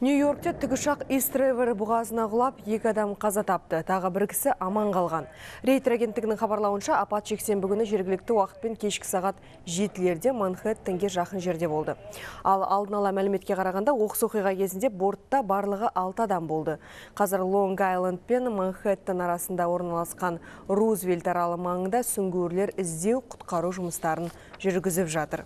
Нью-Йоркте тікұшақ Истревер бұғазына құлап, 2 адам қаза тапты. Тағы бір кісі аман қалған. Рейтер агенттігінің хабарлауынша, апат жексенбі күні жергілікті уақытпен кешкі сағат 7-лерде Манхэттенге жақын жерде болды. Ал алдын ала мәліметке қарағанда, оқыс оқиға кезінде бортта барлығы 6 адам болды. Қазір Лонг-Айленд пен Манхэттен арасында орналасқан Рузвельт аралы маңында сүңгуірлер іздеу құтқару жұмыстарын жүргізіп жатыр.